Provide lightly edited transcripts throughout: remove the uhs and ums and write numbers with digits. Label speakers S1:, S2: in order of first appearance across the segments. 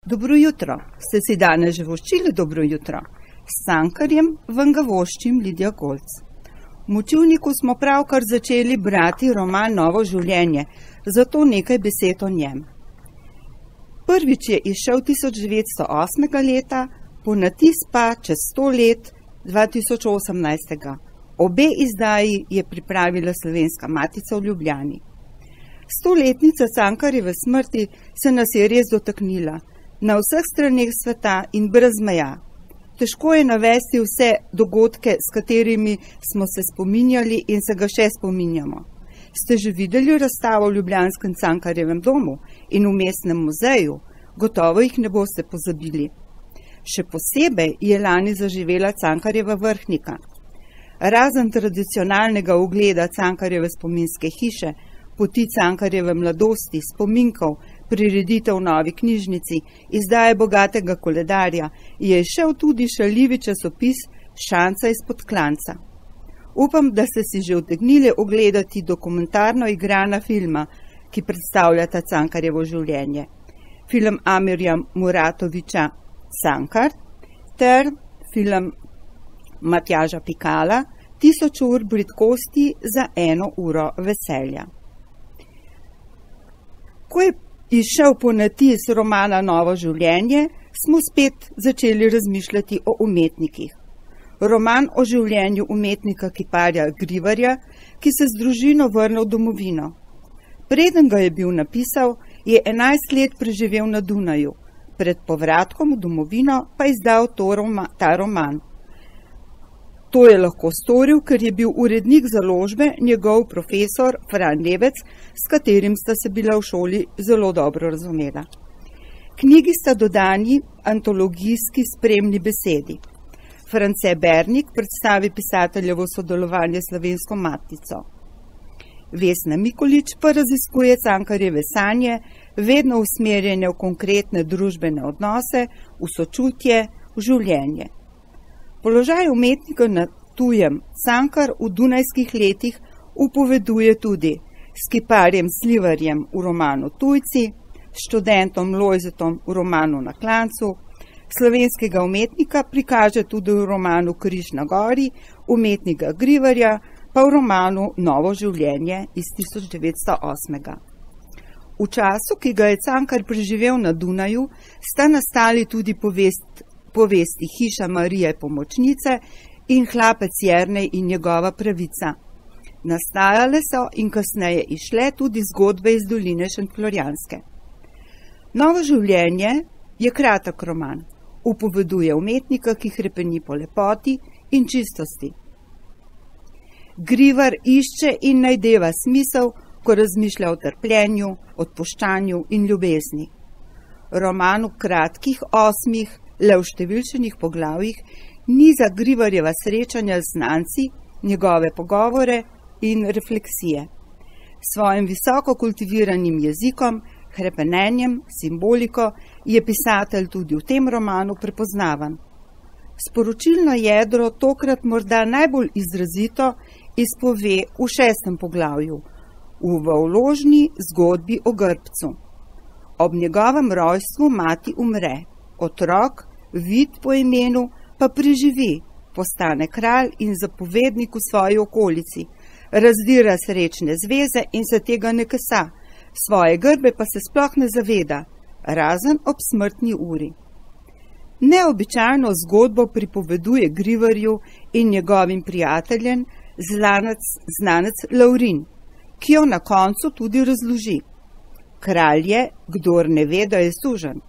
S1: Dobro jutro, ste si danes že voščili dobro jutro? S Cankarjem vam ga voščim Lidija Golc. V Močivniku smo pravkar začeli brati roman Novo življenje, zato nekaj besed o njem. Prvič je izšel 1908. leta, ponatis pa čez 100 let 2018. Obe izdaji je pripravila Slovenska matica v Ljubljani. 100-letnica Cankarjeve smrti se nas je res dotaknila, na vseh straneh sveta in brez meja. Težko je navesti vse dogodke, s katerimi smo se spominjali in se ga še spominjamo. Ste že videli razstavo v ljubljanskem Cankarjevem domu in v mestnem muzeju? Gotovo jih ne boste pozabili. Še posebej je lani zaživela Cankarjeva vrhnika. Razen tradicionalnega ogleda Cankarjeve spominske hiše, poti Cankarjeve mladosti, spominkov, prireditev v novi knjižnici, izdaje bogatega koledarja, je šel tudi šaljivi časopis Šanca izpod klanca. Upam, da ste si že utegnili ogledati dokumentarno igrana filma, ki predstavljata Cankarjevo življenje. Film Amirja Muratovića Cankar ter film Matjaža Pikala 1000 ur bridkosti za 1 uro veselja. Ko je izšel ponatis romana Novo življenje, smo spet začeli razmišljati o umetnikih. Roman o življenju umetnika kiparja Grivarja, ki se z družino vrnil v domovino. Preden ga je bil napisal, je 11 let preživel na Dunaju, pred povratkom v domovino pa izdal ta roman. To je lahko storil, ker je bil urednik založbe njegov profesor Fran Levec, s katerim sta se bila v šoli zelo dobro razumela. Knjigi sta dodani antologijski spremni besedi. France Bernik predstavi pisateljevo sodelovanje s Slovensko matico. Vesna Mikolič pa raziskuje Cankarjeve sanje, vedno usmerjene v konkretne družbene odnose, v sočutje, v življenje. Položaj umetnika na tujem Cankar v dunajskih letih upoveduje tudi s kiparjem Slivarjem v romanu Tujci, študentom Lojzetom v romanu Na klancu, slovenskega umetnika prikaže tudi v romanu Križ na gori, umetnika Grivarja pa v romanu Novo življenje iz 1908. V času, ki ga je Cankar preživel na Dunaju, sta nastali tudi povesti Hiša Marije Pomočnice in Hlapec Jernej in njegova pravica. Nastajale so in kasneje izšle tudi zgodbe iz doline Šentflorjanske. Novo življenje je kratek roman. Upoveduje umetnika, ki hrepeni po lepoti in čistosti. Grivar išče in najdeva smisel, ko razmišlja o trpljenju, odpuščanju in ljubezni. Roman v kratkih 8, le v številčenih poglavjih, niza Grivarjeva srečanja z znanci, njegove pogovore in refleksije. Svojim visoko kultiviranim jezikom, hrepenenjem, simboliko je pisatelj tudi v tem romanu prepoznavan. Sporočilno jedro tokrat morda najbolj izrazito izpove v 6. poglavju, v vložni zgodbi o Grbcu. Ob njegovem rojstvu mati umre. Otrok, Vid po imenu, pa preživi, postane kralj in zapovednik v svoji okolici, razdira srečne zveze in se tega ne kesa, svoje grbe pa se sploh ne zaveda, razen ob smrtni uri. Neobičajno zgodbo pripoveduje Grivarju in njegovim prijateljem znanec Laurin, ki jo na koncu tudi razloži. Kralj je, kdor ne ve, da je suženj.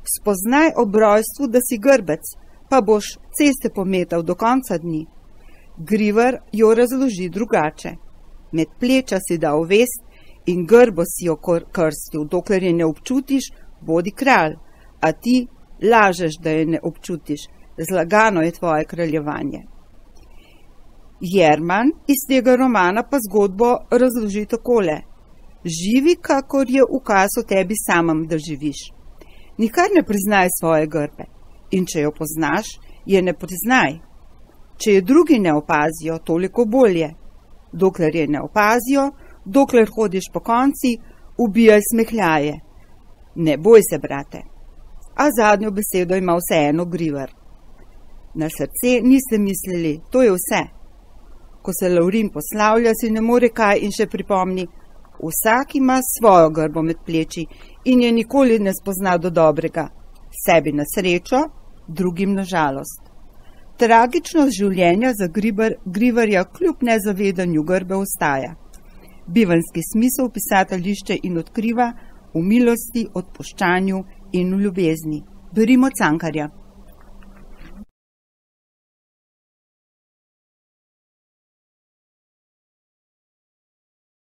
S1: Spoznaj ob rojstvu, da si grbec, pa boš ceste pometal do konca dni. Grivar jo razloži drugače. Med pleča si dal vest in grbo si jo krstil, dokler je ne občutiš, bodi kralj, a ti lažeš, da je ne občutiš, zlagano je tvoje kraljevanje. Jerman iz tega romana pa zgodbo razloži takole. Živi, kakor je ukaz o tebi samem, da živiš. Nikar ne priznaj svoje grbe in če jo poznaš, je ne priznaj. Če je drugi ne opazijo, toliko bolje. Dokler je ne opazijo, dokler hodiš po konci, ubijaj smehljaje. Ne boj se, brate. a zadnjo besedo ima vseeno Grivar. Na srce niste mislili, to je vse. Ko se Lovrin poslavlja, si ne more kaj in še pripomni: vsak ima svojo grbo med pleči in je nikoli ne spozna do dobrega, sebi na srečo, drugim na žalost. Tragičnost življenja za Grivarja kljub nezavedanju grbe ostaja. Bivanjski smisel pisatelj išče in odkriva v milosti, odpuščanju in v ljubezni. Berimo Cankarja.